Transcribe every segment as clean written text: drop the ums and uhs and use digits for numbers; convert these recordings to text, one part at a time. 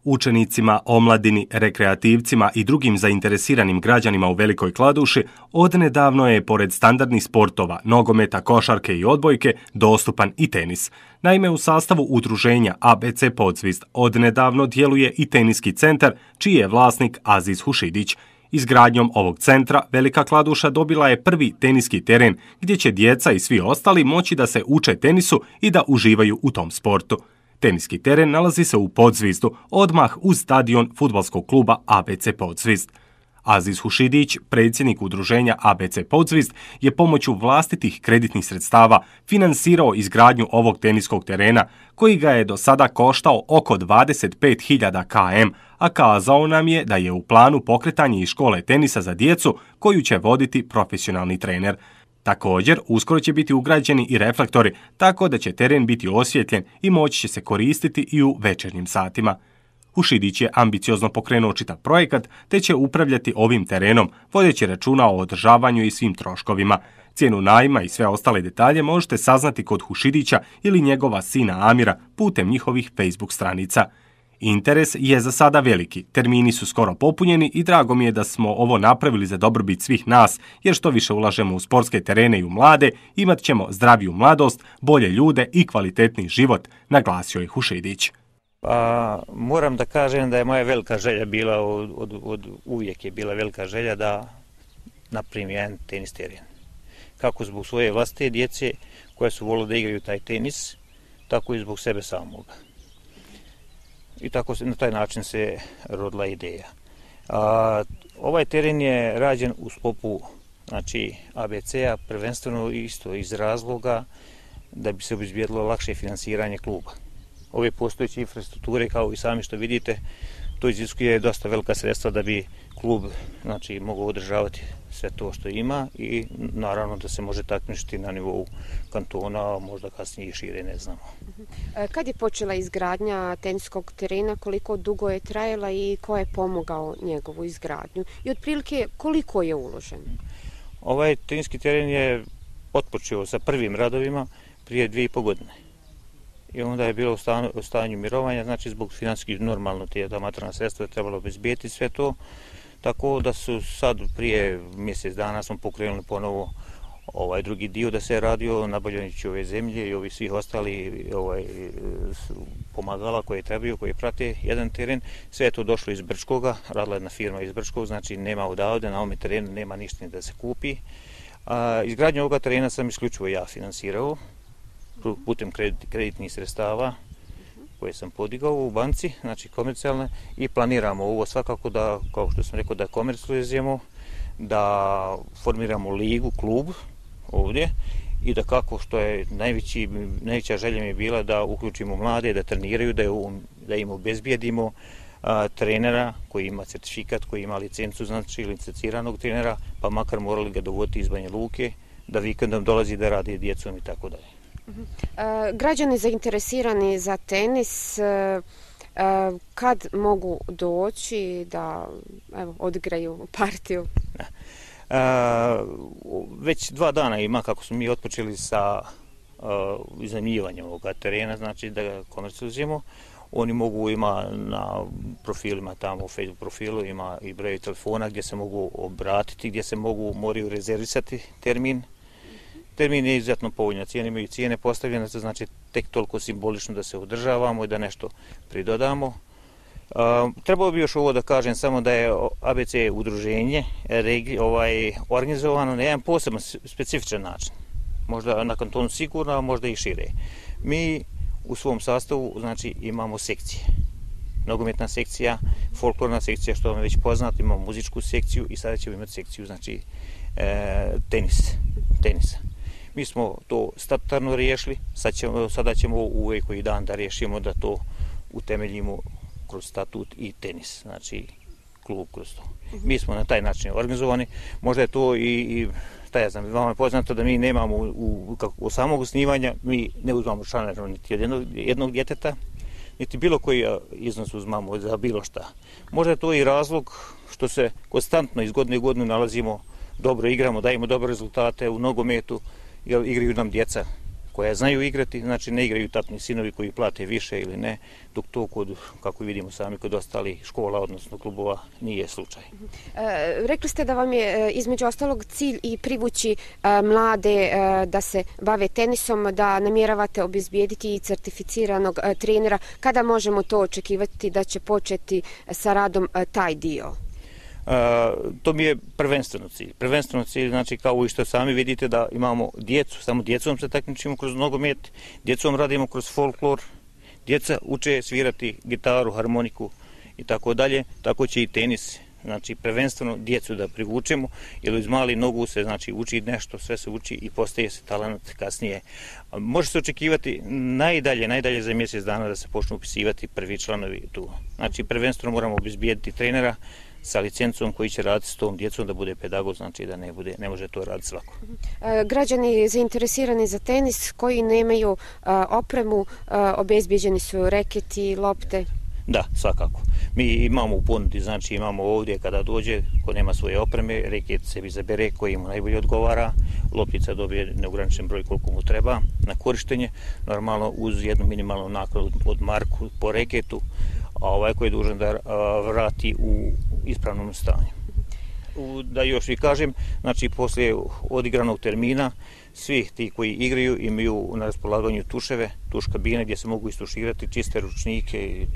Učenicima, omladini, rekreativcima i drugim zainteresiranim građanima u Velikoj Kladuši odnedavno je, pored standardnih sportova, nogometa, košarke i odbojke, dostupan i tenis. Naime, u sastavu udruženja ABC Podzvizd odnedavno djeluje i teniski centar, čiji je vlasnik Aziz Hušidić. Izgradnjom ovog centra Velika Kladuša dobila je prvi teniski teren gdje će djeca i svi ostali moći da se uče tenisu i da uživaju u tom sportu. Teniski teren nalazi se u Podzvizdu, odmah uz stadion fudbalskog kluba ABC Podzvizd. Aziz Hušidić, predsjednik udruženja ABC Podzvizd, je pomoću vlastitih kreditnih sredstava finansirao izgradnju ovog teniskog terena, koji ga je do sada koštao oko 25.000 km, a kazao nam je da je u planu pokretanje i škole tenisa za djecu koju će voditi profesionalni trener. Također, uskoro će biti ugrađeni i reflektori, tako da će teren biti osvjetljen i moći će se koristiti i u večernjim satima. Hušidić je ambiciozno pokrenuo čitav projekat, te će upravljati ovim terenom, vodeći računa o održavanju i svim troškovima. Cijenu najma i sve ostale detalje možete saznati kod Hušidića ili njegova sina Amira putem njihovih Facebook stranica. Interes je za sada veliki, termini su skoro popunjeni i drago mi je da smo ovo napravili za dobrobit svih nas, jer što više ulažemo u sportske terene i u mlade, imat ćemo zdraviju mladost, bolje ljude i kvalitetni život, naglasio je Hušidić. Moram da kažem da je moja velika želja bila, uvijek je bila velika želja da napravim jedan tenis teren. Kako zbog svoje vlastite djece koje su volile da igraju taj tenis, tako i zbog sebe samoga. I tako na taj način se rodila ideja. Ovaj teren je rađen u sklopu ABC-a, prvenstveno isto iz razloga da bi se obezbijedilo lakše finansiranje kluba. Ove postojeće infrastrukture, kao i sami što vidite, to iziskuje dosta velika sredstva da bi klub mogao održavati sve to što ima i naravno da se može takmičiti na nivou kantona, možda kasnije i šire, ne znamo. Kad je počela izgradnja teniskog terena, koliko dugo je trajala i ko je pomogao njegovu izgradnju i otprilike koliko je uloženo? Ovaj teniski teren je otpočeo sa prvim radovima prije 2,5 godine. I onda je bilo u stanju mirovanja, znači zbog financijskih normalno ta materijalna sredstva je trebalo obezbijeti sve to, tako da su sad prije mjesec dana smo pokrenuli ponovo ovaj drugi dio da se radio nabavljajući ove zemlje i ovi svih ostali pomagala koje trebaju, koje prate jedan teren. Sve je to došlo iz Brčkoga, radila jedna firma iz Brčkog, znači nema odavde, na ovome terenu nema ništa da se kupi. Izgradnju ovoga terena sam isključivo ja finansirao putem kreditnih sredstava koje sam podigao u banci, znači komercijalne, i planiramo ovo svakako da, kao što sam rekao, da komercijalizujemo, da formiramo ligu, klub ovdje i da kako što je najveća želja mi je bila da uključimo mlade, da treniraju, da im obezbijedimo trenera koji ima certifikat, koji ima licencu, znači licenciranog trenera, pa makar morali ga dovoditi iz Banja Luke, da vikendom dolazi da radi djecom i tako dalje. Građani zainteresirani za tenis, kad mogu doći da odigraju partiju? Već 2 dana ima kako smo mi otpočeli sa iznajmljivanjem ovoga terena, znači da ga komercijalizujemo. Oni mogu, ima na profilima tamo, u Facebook profilu, ima i broj telefona gdje se mogu obratiti, gdje se moraju rezervisati termin. Termin je izuzetno povoljna, imaju cijene postavljene, to znači tek toliko simbolično da se održavamo i da nešto pridodamo. Trebalo bi još ovo da kažem samo da je ABC udruženje organizovano na jedan poseban, specifičan način. Možda na kantonu sigurno, a možda i šire. Mi u svom sastavu imamo sekcije. Nogometna sekcija, folklorna sekcija, što vam je već poznato, imamo muzičku sekciju i sada ćemo imati sekciju tenisa. Mi smo to statutarno riješili, sada ćemo uvijek koji dan da riješimo da to utemeljimo kroz statut i tenis, znači klub kroz to. Mi smo na taj način organizovani, možda je to vama je poznato da mi nemamo u samog osnivanja, mi ne uzmamo članarinu niti od jednog djeteta, niti bilo koji iznos uzmamo za bilo šta. Možda je to i razlog što se konstantno iz godine u godinu nalazimo, dobro igramo, dajemo dobre rezultate u nogometu, jer igraju nam djeca koja znaju igrati, znači ne igraju tatni sinovi koji plate više ili ne, dok to kod, kako vidimo sami, kod ostalih škola, odnosno klubova, nije slučaj. Rekli ste da vam je između ostalog cilj i privući mlade da se bave tenisom, da namjeravate obezbijediti i certificiranog trenera. Kada možemo to očekivati da će početi sa radom taj dio? To mi je prvenstveno cilj. Prvenstveno cilj, znači kao i što sami vidite da imamo djecu, samo djecom se takmičimo kroz nogomet, djecom radimo kroz folklor, djeca uče svirati gitaru, harmoniku i tako dalje, tako će i tenis. Znači prvenstveno djecu da privučemo, jer iz mali nogu se znači uči nešto, sve se uči i postaje se talent kasnije. Može se očekivati najdalje za mjesec dana da se počnu upisivati prvi članovi tu. Znači prvenstveno moramo obezbijediti trenera sa licencom koji će raditi s tom djecom, da bude pedagog, znači da ne može to raditi svako. Građani zainteresirani za tenis koji nemaju opremu, obezbijeđeni su reketi, lopte? Da, svakako. Mi imamo u ponudi, znači imamo ovdje kada dođe, ko nema svoje opreme, reket sebi zabere koji mu najbolje odgovara, loptica dobije neograničen broj koliko mu treba na korištenje, normalno uz jednu minimalnu naknadu od marku po reketu, a ovaj koji je dužan da vrati u ispravnom stanju. Da još i kažem, znači poslije odigranog termina, svi ti koji igraju imaju na raspolaganju tuševe, tuš kabine gdje se mogu istuširati, čiste ručnike,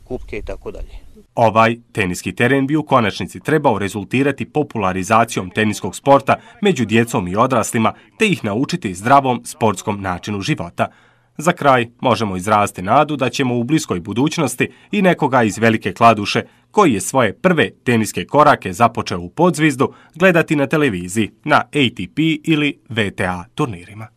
kupke i tako dalje. Ovaj teniski teren bi u konačnici trebao rezultirati popularizacijom teniskog sporta među djecom i odraslima, te ih naučiti zdravom sportskom načinu života. Za kraj možemo izraziti nadu da ćemo u bliskoj budućnosti i nekoga iz Velike Kladuše, koji je svoje prve teniske korake započeo u Podzvizdu, gledati na televiziji, na ATP ili VTA turnirima.